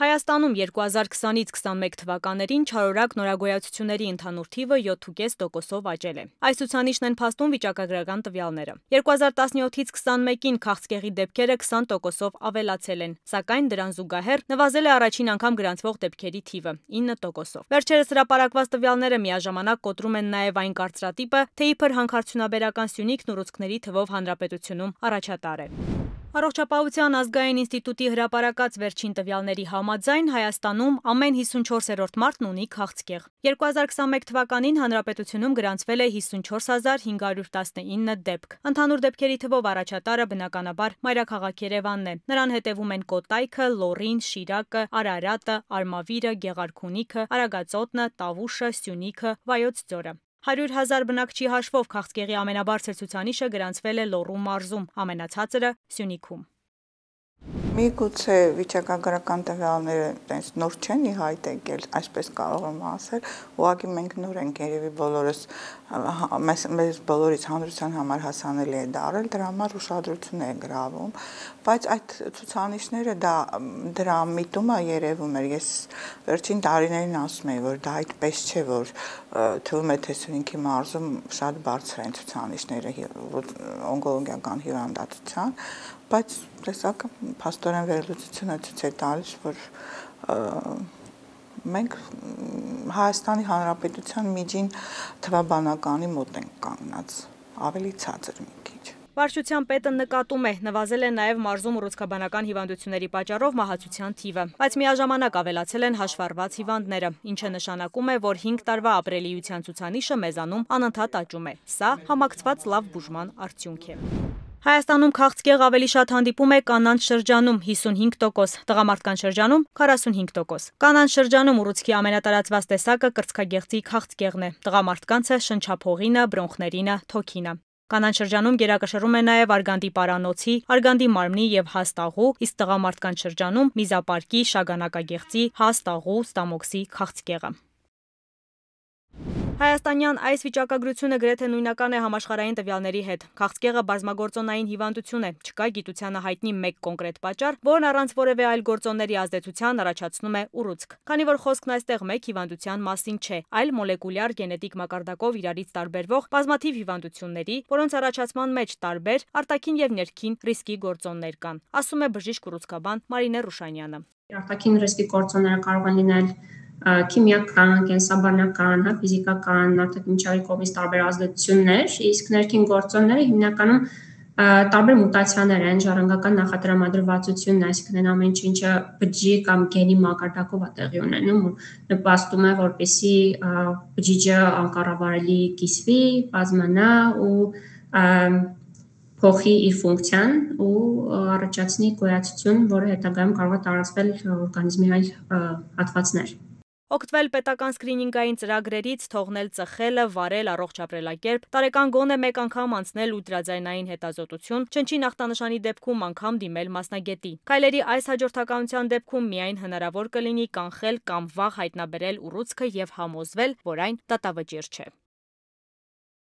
Հայաստանում 2020-ից 21 թվականներին չարորակ նորագոյացությունների ընդհանուր թիվը 7,5%-ով աճել է։ Այս ցուցանիշն են փաստում վիճակագրական տվյալները։ 2017-ից 21-ին քաղցկեղի դեպքերը 20%-ով ավելացել են, սակայն դրան զուգահեռ նվազել է առաջին անգամ գրանցվող դեպքերի թիվը 9%-ով։ Վերջերս հրապարակված տվյալները միաժամանակ կոտրում են նաև այն կարծրատիպը, թե իբր հանքարդյունաբերական սյունիքն ուռուցքների թվով հանրապետությունում առաջատար է։ Առողջապահության ազգային ինստիտուտի հրապարակած վերջին տվյալների համաձայն Հայաստանում ամեն 54-րդ մարդն ունի քաղցկեղ։ 2021 թվականին հանրապետությունում գրանցվել է 54,519 դեպք։ Ընդհանուր դեպքերի թվով առաջատարը բնականաբար մայրաքաղաք Երևանն է։ Նրան հետևում են Կոտայքը, Լոռին, Շիրակը, Արարատը, Արմավիրը, Գեղարքունիքը, Արագածոտնը, Տավուշը, Սյունիքը, Վայոց ձորը։ 100,000 բնակչի հաշվով քաղցկեղի ամենաբարձր ցուցանիշը գրանցվել է Լոռու մարզում, ամենացածրը Սյունիքում։ Միգուցե վիճակագրական տվյալները տենց նոր չեն ի հայտ եկել, այսպես կարող եմ ասել, ուղղակի մենք նոր ենք երևի բոլորս մեզ բոլորից հանրության համար հասանելի է դարել, դրա համար ուշադրություն է գրավում, բայց այդ ցուցանիշները դրա միտումը երևում էր, ես վերջին տարիներին ասում եի, որ դա այդպես չէ, որ թվում է թե Սյունիքի մարզում շատ բարձր են ցուցանիշները օնկոլոգիական հիվանդացության, բայց տեսակ փաստորեն վերլուծությունը ցույց է տալիս, որ մենք Հայաստանի Հանրապետության միջին թվաբանականի մոտ ենք կանգնած, ավելի ցածր մի քիչ։ Վարչության պետը նկատում է, նվազել է նաև մարզում ուռուցքաբանական հիվանդությունների պատճառով մահացության թիվը, բայց միաժամանակ ավելացել են հաշվառված հիվանդները, ինչը նշանակում է, որ 5 տարվա ապրելիության ցուցանիշը մեզանում անընդհատ աճում է։ Սա համակցված լավ բուժման արդյունք է։ Հայաստանում քաղցկեղ ավելի շատ հանդիպում է կանանց շրջանում 55%, տղամարդկանց շրջանում 45%։ Կանանց շրջանում ուռուցքի ամենատարածված տեսակը կրծքագեղձի քաղցկեղն է, տղամարդկանցը շնչափողինը, բրոնխներինը, թոքինը։ Կանանց շրջանում գերակշռում է նաև արգանդի պարանոցի, արգանդի մարմնի եւ հաստ աղու, իսկ տղամարդկանց շրջանում միզապարկի, շագանակագեղձի, հաստ աղու, ստամոքսի քաղցկեղը։ Հայաստանյան այս վիճակագրությունը գրեթե նույնական է համաշխարհային տվյալների հետ։ Քաղցկեղը բազմագործոնային հիվանդություն է, չկա գիտությանը հայտնի մեկ կոնկրետ պատճառ, որն առանց որևէ այլ գործոնների ազդեցության առաջացնում է ուռուցք։ Քանի որ խոսքն այստեղ մեկ հիվանդության մասին չէ, այլ մոլեկուլյար գենետիկ մակարդակով իրարից տարբերվող բազմաթիվ հիվանդությունների, որոնց առաջացման մեջ տարբեր արտաքին եւ ներքին ռիսկի գործոններ կան, ասում է բժիշկ ուռուցքաբան Մարինե Ռուշանյանը։ Արտաքին ռիսկի գործոնները կարող են լինել քիմիական, կենսաբանական, ֆիզիկական, արտաքին միջավայրի կողմից տարբեր ազդեցություններ, իսկ ներքին գործոնները հիմնականում տարբեր մուտացիաներ են, ժառանգական նախատրամադրվածությունն, այսինքն այն ամեն ինչը բջջի կամ գենի մակարդակով է տեղի ունենում ու նպաստում է, որպեսզի բջիջը անկառավարելի կիսվի, բազմանա ու փոխի իր ֆունկցիան ու առաջացնի գոյացություն, որը հետագայում կարող է տարածվել օրգանիզմի այլ հատվածներ։ Օգտվել պետական սկրինինգային ծրագրերից, թողնել ծխելը, վարել առողջ ապրելակերպ, տարեկան գոնե մեկ անգամ անցնել ուլտրաձայնային հետազոտություն, չնչին ախտանշանի դեպքում անգամ դիմել մասնագետի։ Քայլերի այս հաջորդականության դեպքում միայն հնարավոր կլինի կանխել կամ վաղ հայտնաբերել ուռուցքը եւ համոզվել, որ այն դատավճիռ չէ։